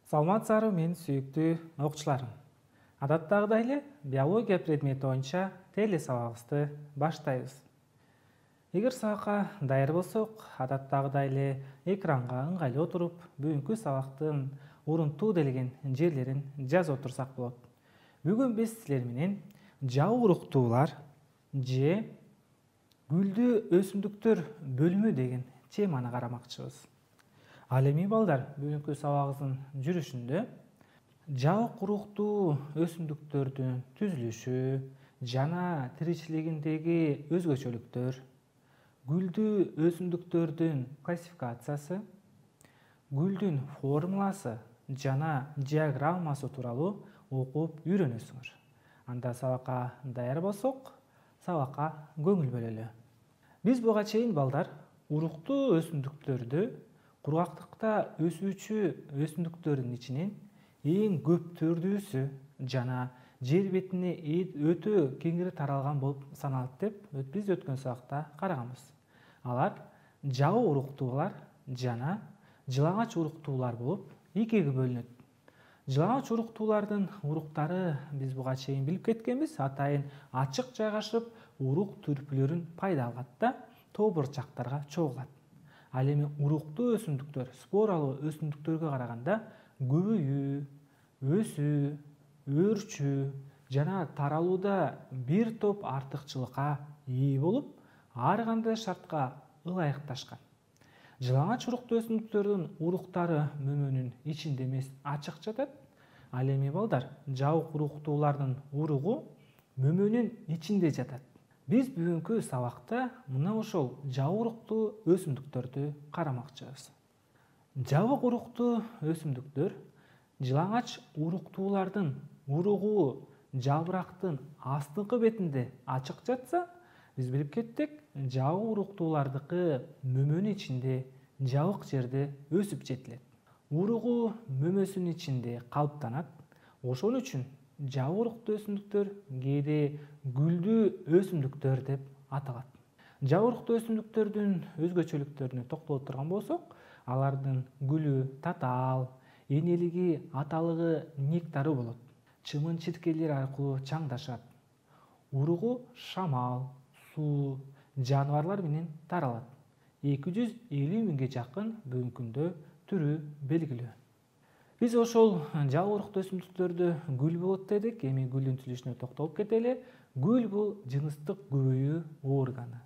Саламатсыздарбы мен сүйүктүү окуучуларым. Адаттагыдай эле биология предмети боюнча теле сабагыбызды баштайбыз. Эгер сабакка даяр болсок, адаттагыдай эле экранга ыңгайлуу отуруп, бүгүнкү сабактын урунтуу делген жерлерин жазып отурсак болот. Бүгүн биз силер менен жабык уруктуулар же гүлдүү өсүмдүктөр бөлүмү деген теманы карамакчыбыз. Ал эми балдар, бүгүнкү сабагыбыздын жүрүшүндө жабык уруктуу өсүмдүктөрдүн түзүлүшү жана тиричилигиндеги өзгөчөлүктөр, гүлдүү өсүмдүктөрдүн классификациясы, гүлдүн формуласы жана диаграммасы тууралуу окуп үйрөнөсүңөр. Анда сабакка даяр болсок, сабакка көңүл бөлөлү. Биз буга чейин балдар уруктуу өсүмдүктөрдү кургактыкта өсүүчү өсүмдүктөрдүн ичинен эң көптөрдүүсү жана жер бетине өтө кеңири таралган болуп саналат деп биз өткөн сабакта караганбыз. Алар жабык уруктуулар жана жылаңач уруктуулар болуп экиге бөлүнөт. Жылаңач уруктуулардын уруктары биз буга чейин билип кеткенбиз, атайын ачык жайгашып, урук түрпүлөрүн пайда алат да тобурчактарга чогулат. Ал эми уруктуу өсүмдүктөр споралуу өсүмдүктөргө караганда көбөйүү, өсүү, өөрчүү жана таралууда бир топ артыкчылыкка ээ болуп, ар кандай шартка ылайыкташкан. Жылаңач уруктуу өсүмдүктөрдүн уруктары мөмөнүн ичинде эмес, ачык жатат. Ал эми балдар, жабык уруктуулардын уругу мөмөнүн ичинде жатат. Биз бүгүнкү сабакта мына ошол жабык уруктуу өсүмдүктөрдү карамакчыбыз. Жабык уруктуу өсүмдүктөр жылаңач уруктуулардын уругу жапырактын астыңкы бетинде ачык жатса, биз билип кеттик, жабык уруктуулардыкы мөмөнүн ичинде жабык жерде өсүп жетилет. Уругу мөмөсүнүн ичинде калыптанат. Ошон үчүн жабык уруктуу өсүмдүктөр кээде гүлдүү өсүмдүктөр деп аталат. Жабык уруктуу өсүмдүктөрдүн өзгөчөлүктөрүнө токтоло турган болсок, алардын гүлү татаал, энелиги, аталыгы нектары болот. Чымын-чиркейлер аркылуу чаңдашат. Уругу шамал, суу, жаныбарлар менен таралат. 250 миңге жакын бүгүнкү күндө түрү белгилүү. Биз ошол жабык уруктуу өсүмдүктөрдө гүл болот дедик. Эми гүлдүн түзүлүшүнө токтолуп кетели. Гүл бул жыныстык көбөйүү органы.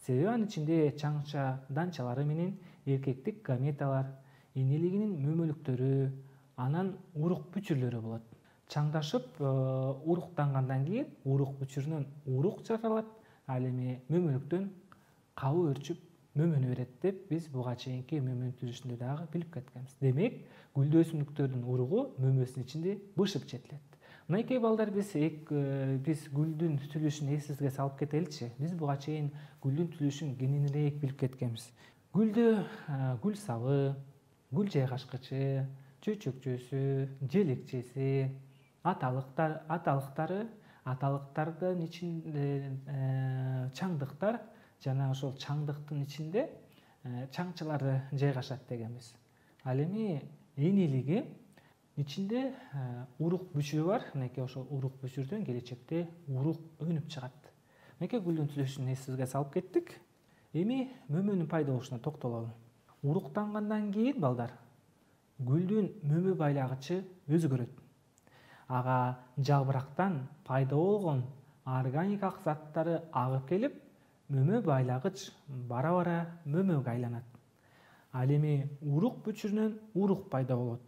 Себеби анын ичинде чаңча данчалары менен эркектик гаметалар, энелигинин мөмөлүктөрү, анан урук бүчүрлөрү болот. Чаңдашып уруктангандан кийин урук бүчүрүнөн урук жаралат, ал эми мөмөлүктөн кабы өрчүп мөмөнү берет деп биз буга чейинки мөмөнүн түзүлүшүндө дагы билип кеткенбиз. Демек, гүлдүү өсүмдүктөрдүн уругу мөмөсүнүн ичинде бышып жетилет. Мынакей балдар, биз гүлдүн түзүлүшүн эсибизге салып кетеличи. Биз буга чейин гүлдүн түзүлүшүн кененирээк билип кеткенбиз. Гүлдө гүл сабы, гүл жайгашкычы, чөйчөкчөсү, желекчеси, аталыктардын ичинде чаңдыктар жана ошол чаңдыктын ичинде чаңчалары жайгашат дегенбиз. Ал эми энелиги ичинде урук бүчүрү бар. Мынакей ошол урук бүчүрдөн келечекте урук өнүп чыгат. Мынакей гүлдүн түзүлүшүн эсибизге салып кеттик. Эми мөмөнүн пайда болушуна токтололу. Уруктангандан кийин балдар, гүлдүн мөмө байлагычы өзгөрөт. Ага жапырактан пайда болгон органикалык заттары агып келип, мөмө байлагыч бара-бара мөмөгө айланат. Ал эми урук бүчүрүнөн урук пайда болот.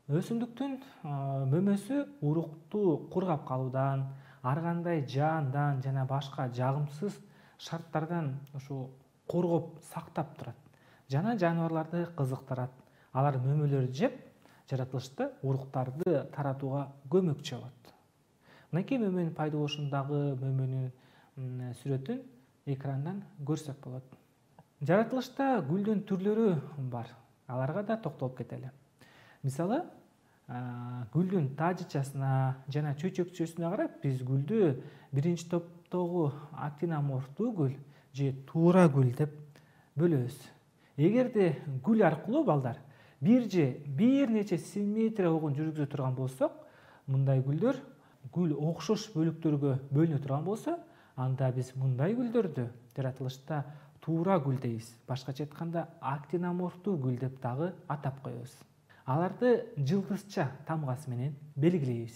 Өсүмдүктүн мөмөсү урукту кургап калуудан, ар кандай жаандан жана башка жагымсыз шарттардан ошо коргоп сактап турат. Жана жаныбарларды кызыктырат. Алар мөмөлөрдү жеп, жаратылышта уруктарды таратууга көмөкчү болот. Мынакей мөмөнүн пайда болушундагы мөмөнүн сүрөтүн экрандан көрсөк болот. Жаратылышта гүлдүн түрлөрү бар. Аларга да токтолуп кетели. Мисалы, гүлдүн таажычасына жана чөйчөкчөсүнө карап, биз гүлдү биринчи топтогу актиноморфтуу гүл же туура гүл деп бөлөбүз. Эгерде гүл аркылуу балдар бир нече симметрия огун жүргүзө турган болсок, мындай гүлдөр гүл окшош бөлүктөргө бөлүнө турган болсо, анда биз мындай гүлдөрдү жаратылышта туура гүл дейбиз. Башкача айтканда актиноморфтуу гүл деп дагы атап коебуз. Аларды жылдызча тамгасы менен белгилейбиз.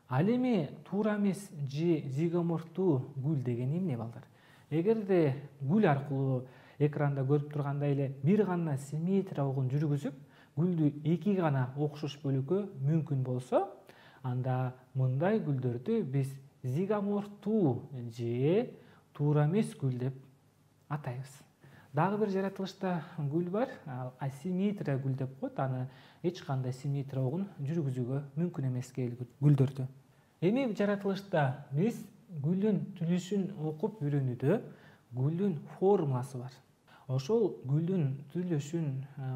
Ал эми туура эмес же зигоморфтуу гүл деген эмне балдар? Эгерде гүл аркылуу экранда көрүп тургандай эле бир гана симметрия огун жүргүзүп, гүлдү эки гана окшош бөлүккө мүмкүн болсо, анда мындай гүлдөрдү биз зигоморфтуу же туура эмес гүл деп атайбыз. Дагы бир жаратылышта гүл бар, асимметрия гүл деп коет. Аны эч кандай симметрия огун жүргүзүүгө мүмкүн эмес гүлдөрдү. Эми жаратылышта биз гүлдүн түзүлүшүн окуп үйрөнүүдө гүлдүн формуласы бар. Ошол гүлдүн түзүлүшүн,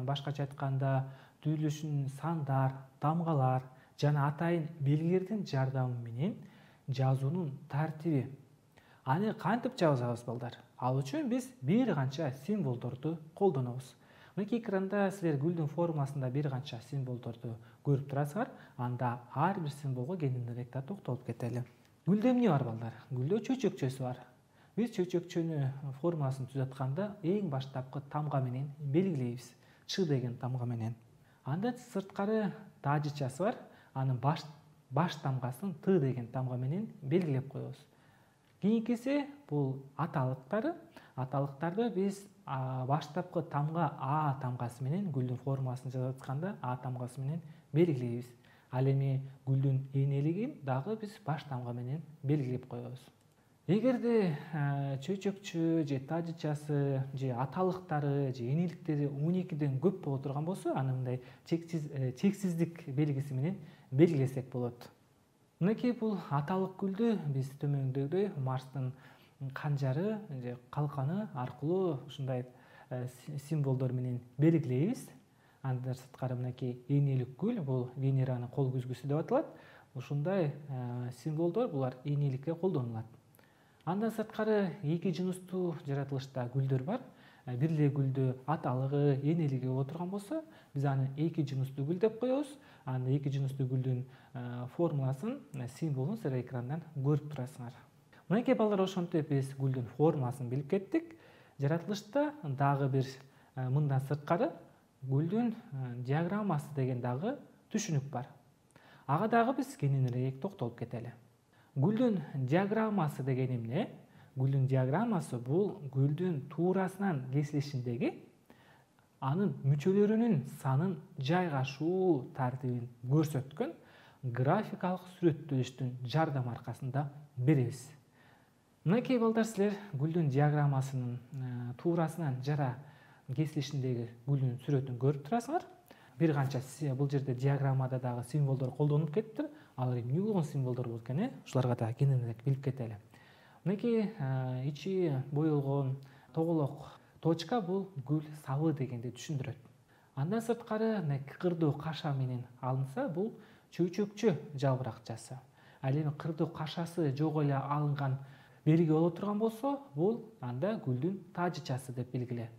башкача айтканда түзүлүшүн сандар, тамгалар жана атайын белгилердин жардамы менен жазуунун тартиби. Аны кантип жазабыз балдар? Ал үчүн биз бир канча символдорду колдонобуз. Мынакей экранда силер гүлдүн формуласында бир канча символдорду көрүп турасыздар. Анда ар бир символго кененирээк токтолуп кетели. Гүлдө эмне бар балдар? Гүлдө чөчөкчөсү бар. Биз чөчөкчөнү формуласын түзөтканда эң баштапкы тамга менен белгилейбиз. Ч деген тамга менен. Анда сырткары тажычасы бар. Анын баш тамгасын Т деген тамга менен белгилеп коебуз. Кийинкиси бул аталыктары. Аталыктарды биз баштапкы тамга А тамгасы менен гүлдүн формуласын жазып атканда А тамгасы менен белгилейбиз. Ал эми гүлдүн энелигин дагы биз баш тамга менен белгилеп коебуз. Эгерде чөчөкчө же тажычасы же аталыктары же энеликтери 12ден көп боло турган болсо, аны мындай чексиздик белгиси менен белгилесек болот. Мынакей бул аталык гүлдү биз төмөндөгүдөй Марстын канжары же калканы аркылуу ушундай символдор менен белгилейбиз. Андан сырткары мынакей энелик гүл, бул Венеранын кол күзгүсү деп аталат. Ушундай символдор булар энеликке колдонулат. Андан сырткары эки жыныстуу жаратылышта гүлдөр бар. Бир эле гүлдү аталыгы, энелиги боло турган болсо, биз аны эки жыныстуу гүл деп коебуз. Аны эки жыныстуу гүлдүн формуласын, символун силер экрандан көрүп турасыңар. Мынакей балдар, ошентип биз гүлдүн формуласын билип кеттик. Жаратылышта дагы бир мындан сырткары гүлдүн диаграммасы деген дагы түшүнүк бар. Ага дагы биз кененирээк токтолуп кетели. Гүлдүн диаграммасы деген эмне? Гүлдүн диаграммасы бул гүлдүн туурасынан кесилишиндеги анын мүчөлөрүнүн санын жайгашуу тартибин көрсөткөн графикалык сүрөттөлүштүн жардамы аркасында беребиз. Мынакей балдар, силер гүлдүн диаграммасынын туурасынан жара кесилишиндеги гүлдүн сүрөтүн көрүп турасыңар. Бир канча бул жерде диаграммада дагы символдор колдонулуп кетиптир. Алар эмне болгон символдор болот экен? Ушуларга да кененирээк билип кетели. Мынакей ичи боелгон тоголок точка бул гүл сабы дегенди түшүндүрөт. Андан сырткары кырдуу каша менен алынса, бул чөчөкчө жалбыракчасы. Ал эми кырдуу кашасы жок эле алынган белги боло турган болсо, бул анда гүлдүн тажычасы деп белгиле.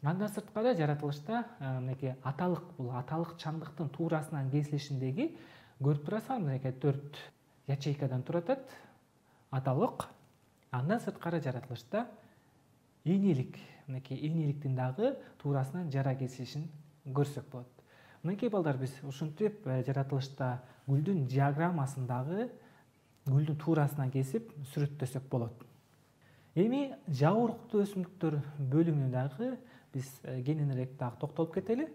Андан сырткары жаратылышта мынакей аталык, бул аталык чаңдыктын туурасынан кесилишиндеги көрүп турасыңар, мынакей 4 ячейкадан турат аталык. Андан сырткары жаратылышта энелик, мынакей энеликтин дагы туурасынан жара кесилишин көрсөк болот. Мынакей балдар, биз ушинтип жаратылышта гүлдүн диаграммасын дагы гүлдүн туурасынан кесип сүрөттөсөк болот. Эми жабыркактуу өсүмдүктөр бөлүмүнө дагы биз кененирээк дагы токтолуп кетели.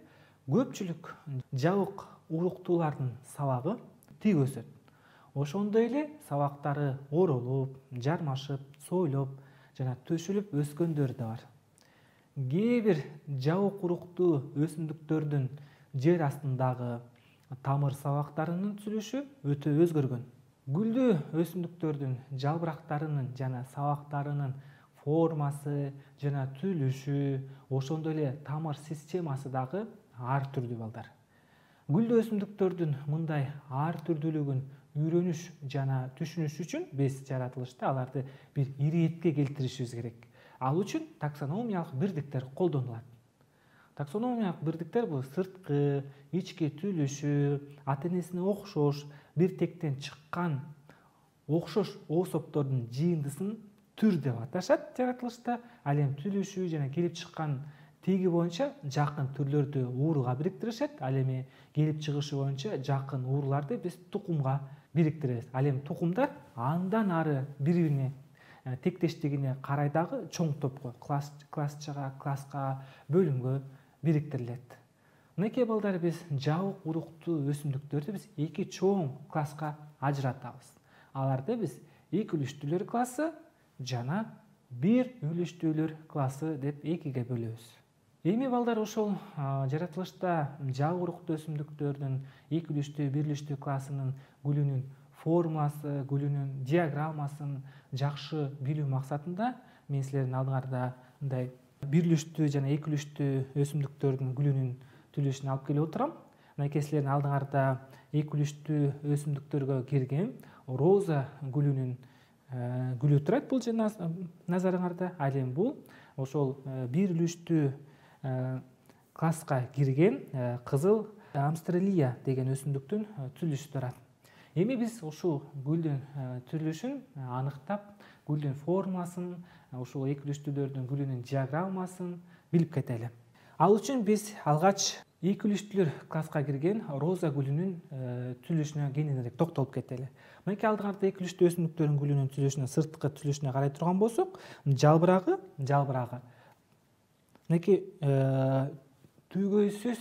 Көпчүлүк жабык уруктуулардын сабагы тик өсөт. Ошондой эле сабактары оролуп, жармашып, сойлоп жана төшүлүп өскөндөр да бар. Кээ бир жабык уруктуу өсүмдүктөрдүн жер астындагы тамыр сабактарынын түзүлүшү өтө өзгөргөн. Гүлдүү өсүмдүктөрдүн жалбырактарынын жана сабактарынын формасы жана түзүлүшү, ошондой эле тамыр системасы дагы ар түрдүү балдар. Гүлдүү өсүмдүктөрдүн мындай ар түрдүүлүгүн үйрөнүш жана түшүнүш үчүн биз жаратылышта аларды бир иретке келтиришибиз керек. Ал үчүн таксономиялык бирдиктер колдонулат. Таксономиялык бирдиктер бул сырткы, ички түлүшү, ата энесине окшош, бир тектен чыккан окшош особдордун жыйындысын түр деп аташат жаратылышта. Ал эми түлүшү жана келип чыккан тиги боюнча жакын түрлөрдү ууруга бириктиришет. Ал эми келип чыгышы боюнча жакын ууруларды биз тукумга бириктиребиз. Ал эми тукумдар андан ары бири бирине тектештигине карай дагы чоң топко, классчага, класска, бөлүмгө бириктирилет. Мынакей балдар, биз жабык уруктуу өсүмдүктөрдү биз эки чоң класска ажыратабыз. Аларды биз экилиштүүлөр классы жана бир үлүштүүлөр классы деп экиге бөлөбүз. Эми балдар, ошол жаратылышта жабык уруктуу өсүмдүктөрдүн экилиштүү, бирлиштүү классынын гүлүнүн формуласы, гүлүнүн диаграммасын жакшы билүү максатында мен силердин алдыңарда мындай бирлиштүү жана экилиштүү өсүмдүктөрдүн гүлүнүн түзүлүшүн алып келип отурам. Мынакей силердин алдыңарда экилиштүү өсүмдүктөргө кирген роза гүлүнүн гүлү турат бул назарыңарда. Ал эми бул ошол бирлиштүү класска кирген кызыл амстралия деген өсүмдүктүн түзүлүшү турат. Эми биз ушул гүлдүн түзүлүшүн аныктап, гүлдүн формуласын, ушул экилиштүүлөрдүн гүлүнүн диаграммасын билип кетели. Ал үчүн биз алгач экилиштүүлөр класска кирген роза гүлүнүн түзүлүшүнө кененирээк токтолуп кетели. Мынакей алдыңарда экилиштүү өсүмдүктөрдүн гүлүнүн түзүлүшүнө, сырткы түзүлүшүнө карай турган болсок, жалбырагы мынакей түгөйсүз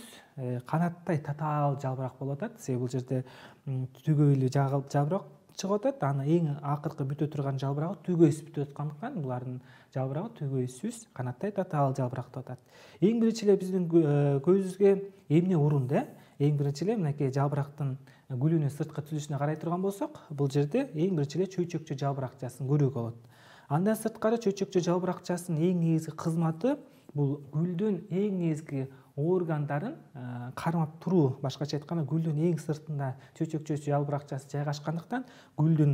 канаттай татаал жалбырак болуп атат. Себеби бул жерде түгөйлүү жалбырак чыгып атат. Анын эң акыркы бүтө турган жалбырагы түгөйсүз бүтүп аткандыктан булардын жалбырагы түгөйсүз канаттай татаал жалбырак деп атат. Эң биринчи эле биздин көзүбүзгө эмне урунду? Эң биринчи эле мынакей жалбырактын гүлүнүн сырткы түзүлүшүнө карай турган болсок, бул жерде эң биринчи эле чөйчөкчө жалбыракчасын көрүүгө болот. Андан сырткары чөйчөкчө жалбыракчасынын эң негизги кызматы бул гүлдүн эң негизги органдарын кармап туруу. Башкача айтканда, гүлдүн эң сыртында чөйчөкчө жалбыракчасы жайгашкандыктан гүлдүн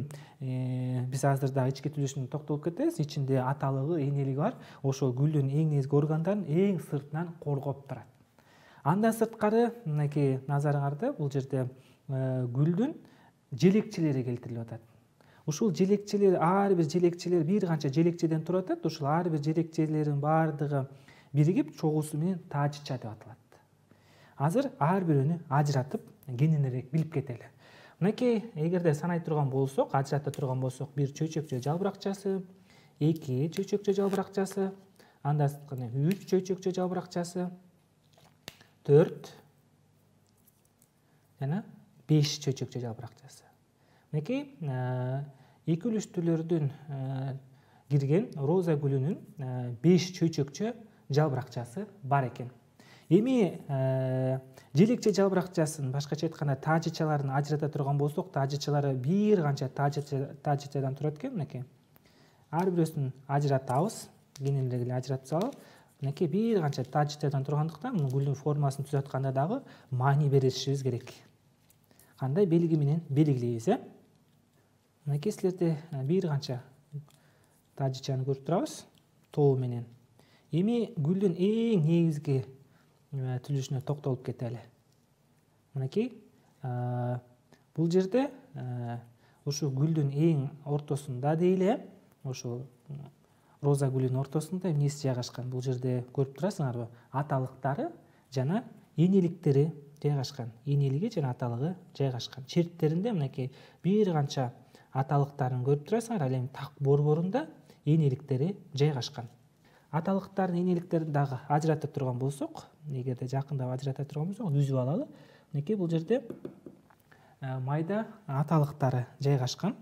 биз азыр дагы ички түзүлүшүнө токтолуп кетебиз. Ичинде аталыгы, энелиги бар. Ошол гүлдүн эң негизги органдарын эң сыртынан коргоп турат. Андан сырткары мынакей назарыңарда бул жерде гүлдүн желекчелери келтирилип атат. Ушул желекчелер, ар бир желекчелер бир канча желекчеден турат. Ушул ар бир желекчелердин баардыгы биригип чогуусу менен тажича деп аталат. Азыр ар бирөөнү ажыратып кененирээк билип кетели. Мынакей эгерде санай турган болсок, ажырата турган болсок, бир чөйчөкчө жалбыракчасы, эки чөйчөкчө жалбыракчасы, андан сырткары 3 чөйчөкчө жалбыракчасы, 4 жана 5 чөйчөкчө жалбыракчасы. Мынакей экилиштүүлөрдүн кирген роза гүлүнүн 5 чөйчөкчө жалбыракчасы бар экен. Эми желекче жалбыракчасын, башкача айтканда тажичаларын ажырата турган болсок, тажичалары бир канча тажичадан турат экен. Мынакей ар бирөөсүн ажыратабыз, кененирээк эле ажыратып салып, мынакей бир канча тажичадан тургандыктан муну гүлдүн формуласын түзүп атканда дагы маани беришибиз керек. Кандай белги менен белгилейбиз? Мынакей силерде бир канча тажичаны көрүп турабыз, тобу менен. Эми гүлдүн эң негизги түзүлүшүнө токтолуп кетели. Мынакей бул жерде ушу гүлдүн эң ортосунда дейле, ошол роза гүлүнүн ортосунда эмнеси жайгашкан? Бул жерде көрүп турасыңарбы? Аталыктары жана энеликтери жайгашкан. Энелиги жана аталыгы жайгашкан. Черттеринде мынакей бир канча аталыктарын көрүп турасыңар. Ал эми так борборунда энеликтери жайгашкан. Аталыктардын энеликтерин дагы ажырата турган болсок, эгерде жакындап ажырата турган болсок, үзүп алалы. Мынакей бул жерде майда аталыктары жайгашкан.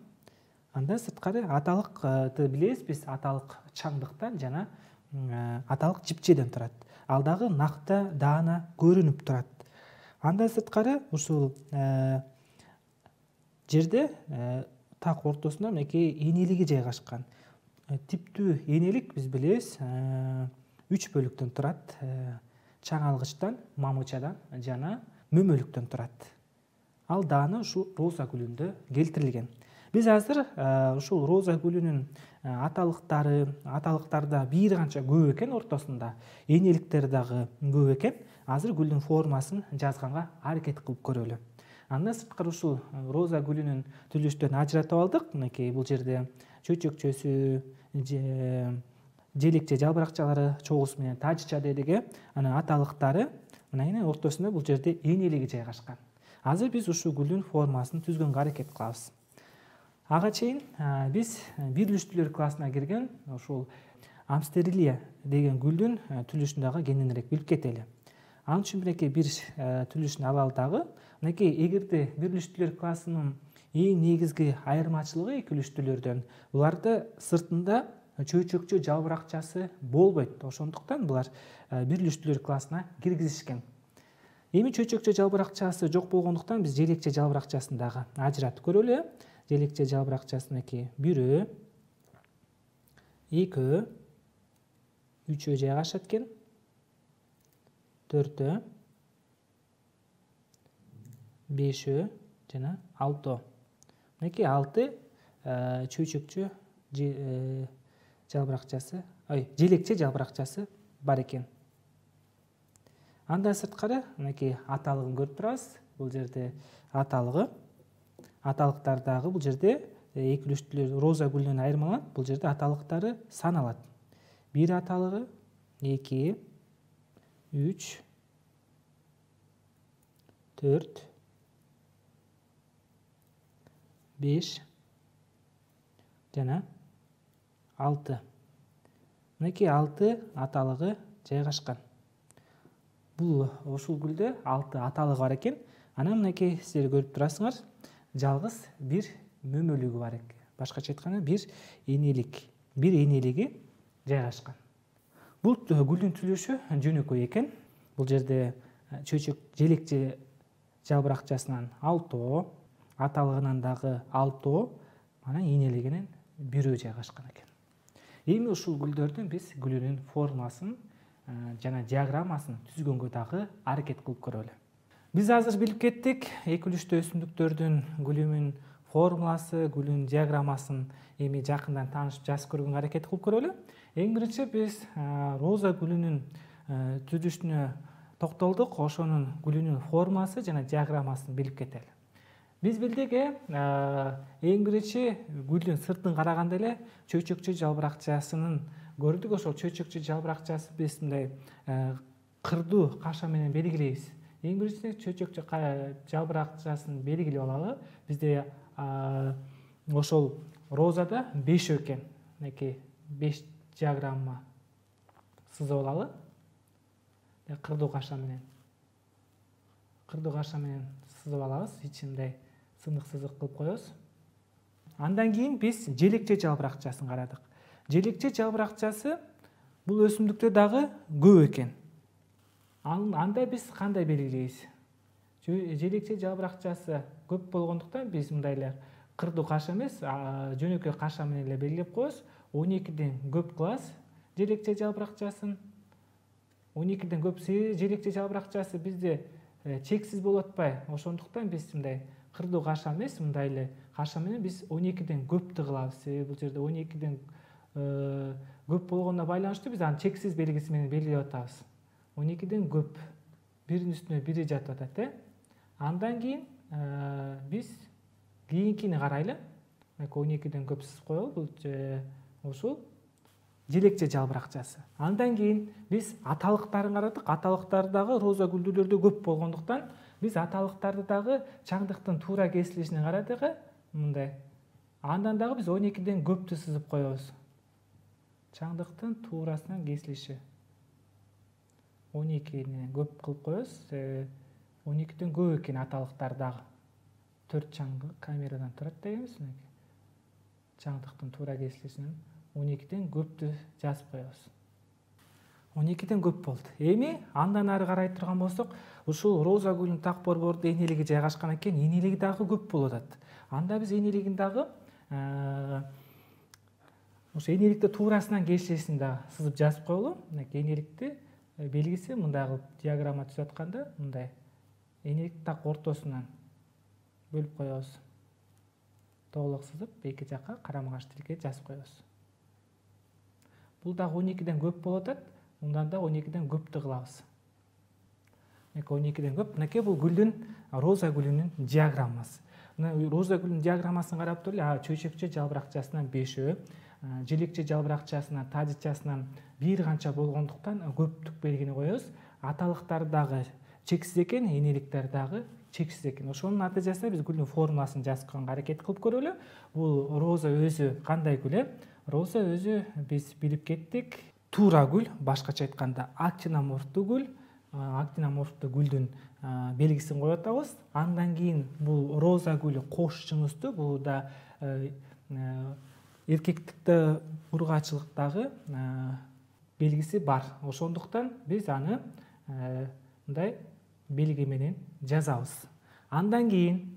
Андан сырткары аталыкты билебиз биз, аталык чаңдыктан жана аталык жипчеден турат. Ал дагы накта даана көрүнүп турат. Андан сырткары ушул жерде так ортосунда мынакей энелиги жайгашкан. Типтүү энелик биз билебиз 3 бөлүктөн турат. Чаңалгычтан, мамычадан жана мөмөлүктөн турат. Ал дааны ушул роза гүлүндө келтирилген. Биз азыр ушул роза гүлүнүн аталыктары да бир канча көп экен, ортосунда энеликтери дагы көп экен. Азыр гүлдүн формасын жазганга аракет кылып көрөлү. Андан сырткары ушул роза гүлүнүн түзүлүштөрүн ажыратып алдык. Мынакей бул жерде чөчөкчөсү, желекче жалбыракчалары чогусу менен тажча дедик. Анан аталыктары мына ортосунда бул жерде энелиги жайгашкан. Азыр биз ушул гүлдүн формасын түзгөнгө аракет кылабыз. Ага чейин биз бирлиштүүлөр классына кирген ушул амстерилия деген гүлдүн түзүлүшүн дагы кененирээк билип кетели. Ал үчүн мынакей бир түзүлүшүн алалы дагы. Мынакей эгерде бирлиштүүлөр классынын эң негизги айырмачылыгы экилиштүүлөрдөн буларды сыртында чөйчөкчө жалбыракчасы болбойт. Ошондуктан булар бирлиштүүлөр классына киргизишкен. Эми чөйчөкчө жалбыракчасы жок болгондуктан биз желекче жалбыракчасын дагы ажыратып көрөлү. Желекче жалбыракчасы мынакей 1, 2, 3 жайгашат экен. 4, 5 жана 6. Мынакей 6 чөйчөкчө жалбыракчасы, желекче жалбыракчасы бар экен. Андан сырткары мынакей аталыгын көрүп турабыз. Бул жерде аталыгы. Аталыктар дагы бул жерде экилиштүүлөр роза гүлүнөн айырмаланат. Бул жерде аталыктары саналат. 1 аталыгы, 2, 3, 4, 5 жана 6. Мынакей 6 аталыгы жайгашкан. Бул ушул гүлдө 6 аталыгы бар экен. Анан мынакей сиздер көрүп турасыңар, жалгыз бир мөмөлүгү бар экен. Башкача айтканда бир энелиги жайгашкан. Бул гүлдүн түзүлүшү жөнөкөй экен. Бул жерде желекче жалбыракчасынан 6, аталыгынан дагы 6, анан энелигинен 1 жайгашкан экен. Эми ушул гүлдөрдүн биз гүлүнүн формасын жана диаграммасын түзгөнгө дагы аракет кылып көрөлү. Биз азыр билип кеттик экилиштүү өсүмдүктөрдүн гүлүнүн формуласы, гүлүнүн диаграммасын эми жакындан таанышып жазып көргөнгө аракет кылып көрөлү. Эң биринчи биз роза гүлүнүн түзүлүшүнө токтолдук, ошонун гүлүнүн формасы жана диаграммасын билип кетели. Биз билдик, эң биринчи гүлдүн сыртын караганда эле чөйчөкчө жалбыракчасынын көрдүк. Ошол чөйчөкчө жалбыракчасы биз мындай кырдуу каша менен белгилейбиз. Эң биринчи чөйчөкчө жалбыракчасын белгилеп алалы. Бизде ошол розада 5 экен. Мынакей 5 диаграмма сызып алалы. Кырдуу каша менен сызып алабыз. Ичинде сынык сызык кылып коебуз. Андан кийин биз желекче жалбыракчасын карадык. Желекче жалбыракчасы бул өсүмдүктө дагы көп экен. Анда биз кандай белгилейбиз? Желекче жалбыракчасы көп болгондуктан биз мындай эле кырдуу каша эмес, жөнөкөй каша менен эле белгилеп коебуз. 12ден көп кылабыз желекче жалбыракчасын. 12ден көп желекче жалбыракчасы бизде чексиз болуп атпайбы? Ошондуктан биз мындай кырдуу каша эмес, мындай эле каша менен биз 12ден көптү кылабыз. Себеби бул жерде 12ден көп болгонуна байланыштуу биз аны чексиз белгиси менен белгилеп атабыз. 12ден көп, биринин үстүнө бири жатып атат. Андан кийин биз кийинкини карайлы. 12ден көп сызып коелу. Бул ушул желекче жалбыракчасы. Андан кийин биз аталыктарын карадык. Аталыктар дагы роза гүлдүүлөрдө көп болгондуктан биз аталыктарды дагы чаңдыктын туура кесилишине карадык. Мындай. Андан дагы биз 12ден көптү сызып коебуз. Чаңдыктын туурасынан кесилиши. 12ден көп кылып коебуз. 12ден көп экен аталыктар дагы. 4 чаңдык камерадан турат дегенбиз. Чаңдыктын туура кесилишинен 12ден көптү жазып коебуз. 12ден көп болду. Эми андан ары карай турган болсок, ушул роза гүлүнүн так борборунда энелиги жайгашкан экен, энелиги дагы көп болуп атат. Анда биз энелигин дагы ошо энеликти туурасынан кесилишин дагы сызып жазып коелу. Мынакей энеликти белгиси мындай кылып диаграмма түзүп атканда, мындай энеликти так ортосунан бөлүп коебуз. тоголок сызып эки жакка карама каршы тилге жазып коебуз. Бул дагы 12ден көп болуп атат. Мындан да 12ден көптү кылабыз. 12ден көп. Мынакей бул гүлдүн, роза гүлүнүн диаграммасы. Мына роза гүлүнүн диаграммасын карап туруп, чөйчөкчө жалбыракчасынан 5-өө, желекче жалбыракчасынан, тажычасынан бир канча болгондуктан көптүк белгини коебуз. Аталыктар дагы чексиз экен, энеликтер дагы чексиз экен. Ошонун натыйжасында биз гүлдүн формуласын жазып койгонго аракет кылып көрөлү. Бул роза өзү кандай гүл? Роза өзү биз билип кеттик. Туура гүл, башкача айтканда актиноморфтуу гүл. Актиноморфтуу гүлдүн белгисин коюп атабыз. Андан кийин бул роза гүлү кош жыныстуу. Бул да эркектикте ургаачылыктагы белгиси бар. Ошондуктан биз аны мындай белги менен жазабыз. Андан кийин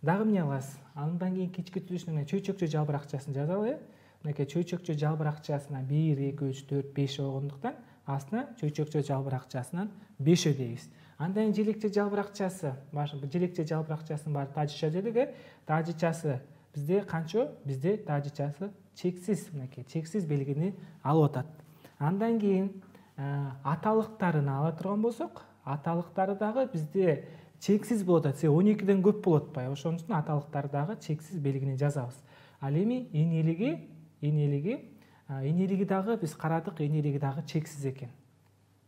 дагы эмне кылабыз? Андан кийин кички түзүлүшүнө чөйчөкчө жалбыракчасын жазалы. Мынакей чөйчөкчө жалбыракчасына 1, 2, 3, 4, 5 болгондуктан астына чөйчөкчө жалбыракчасынан 5 дейбиз. Андан кийин желекче жалбыракчасы, желекче жалбыракчасынын баары тажыча дедик. Тажычасы бизде канча? Бизде тажычасы чексиз, мынакей чексиз белгини алып атат. Андан кийин аталыктарын ала турган болсок, аталыктары дагы бизде чексиз болуп атат. 12ден көп болуп атпайбы? Ошон үчүн аталыктары дагы чексиз белгини жазабыз. Ал эми энелиги дагы биз карадык, энелиги дагы чексиз экен.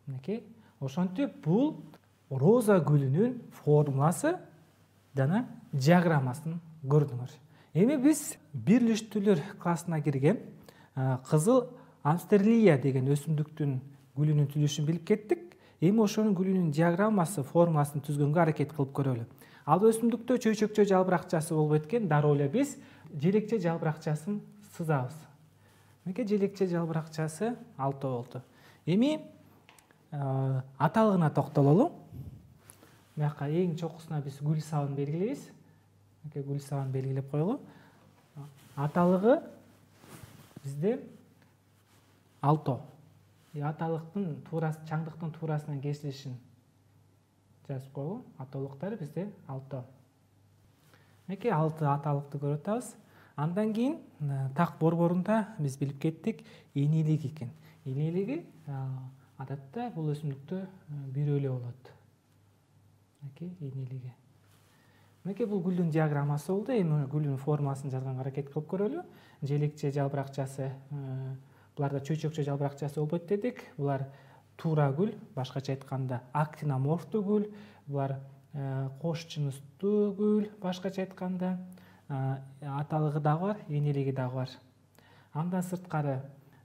Мынакей. Ошентип бул роза гүлүнүн формуласы жана диаграммасын көрдүңөр. Эми биз бирлиштүүлөр классына кирген кызыл амстерлия деген өсүмдүктүн гүлүнүн түзүлүшүн билип кеттик. Эми ошонун гүлүнүн диаграммасы, формуласын түзгөнгө аракет кылып көрөлү. Ал өсүмдүктө чөйчөкчө жалбыракчасы болбойт экен, дароо эле биз желекче жалбыракчасын сызабыз. Мынакей желекче жалбыракчасы 6 болду. Эми аталыгына токтололу. Мыяка эң чокусуна биз гүл сабын белгилейбиз. Мынакей гүл сабын белгилеп коелу. Аталыгы бизде 6. Аталыктын туурасы, чаңдыктын туурасынан кесилишин жазып коелу. Аталыктары бизде 6. Мынакей 6 аталыкты көрүп атабыз. Андан кийин так борборунда биз билип кеттик энелик экен. Энелиги адатта бул өсүмдүктө бирөө эле болот. Мынакей энелиги. Мынакей бул гүлдүн диаграммасы болду. Эми гүлдүн формуласын жазганга аракет кылып көрөлү. Желекче жалбыракчасы, буларда чөйчөкчө жалбыракчасы болбойт дедик. Булар туура гүл, башкача айтканда актиноморфтуу гүл. Булар кош жыныстуу гүл, башкача айтканда. Аталыгы дагы бар, энелиги дагы бар. Андан сырткары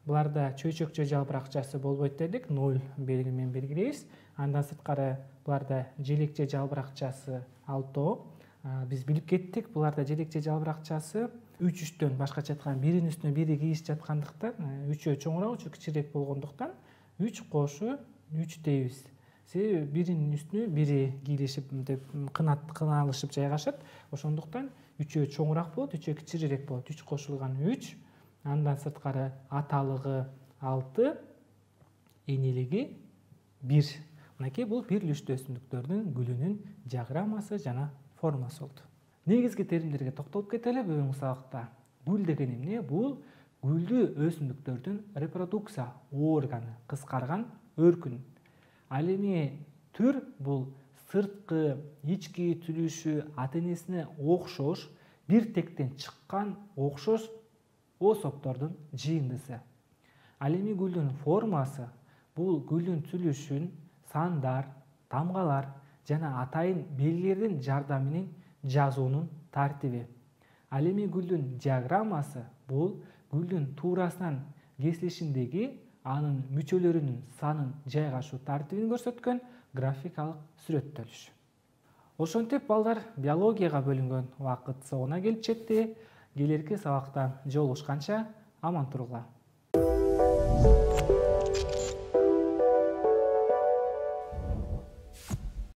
буларда чөйчөкчө жалбыракчасы болбойт дедик, 0 белги менен белгилейбиз. Андан сырткары буларда желекче жалбыракчасы 6. Биз билип кеттик, буларда желекче жалбыракчасы 3-3төн, башкача айтканда биринин үстүнө бири кийишип жаткандыктан, 3-өө чоңураак, 3-өө кичирээк болгондуктан 3 кошу 3 дейбиз. Себеби биринин үстүнө бири кийилишип, деп кыналышып жайгашат. Ошондуктан 3-өө чоңураак болот, 3-өө кичирээк болот. 3 кошулган 3. Андан сырткары аталыгы 6, энелиги 1. Мынакей бул бирлиштүү өсүмдүктөрдүн гүлүнүн диаграммасы жана формасы болду. Негизги теримдерге токтолуп кетели бүгүнкү сабакта. Гүл деген эмне? Бул гүлдүү өсүмдүктөрдүн репродукция органы, кыскарган өркүн. Ал эми түр бул сырткы, ички түзүлүшү ата-энесине окшош, бир тектен чыккан окшош особтордун жыйындысы. Ал эми гүлдүн формасы бул гүлдүн түзүлүшүн сандар, тамгалар жана атайын белгилердин жардамы менен жазуунун тартиби. Ал эми гүлдүн диаграммасы бул гүлдүн туурасынан кесилишиндеги анын мүчөлөрүнүн санын жайгашуу тартибин көрсөткөн графикалык сүрөттөлүш. Ошентип балдар, биологияга бөлүнгөн убакыт соңуна келип жетти. Келерки сабакта жолугушканча аман туругула.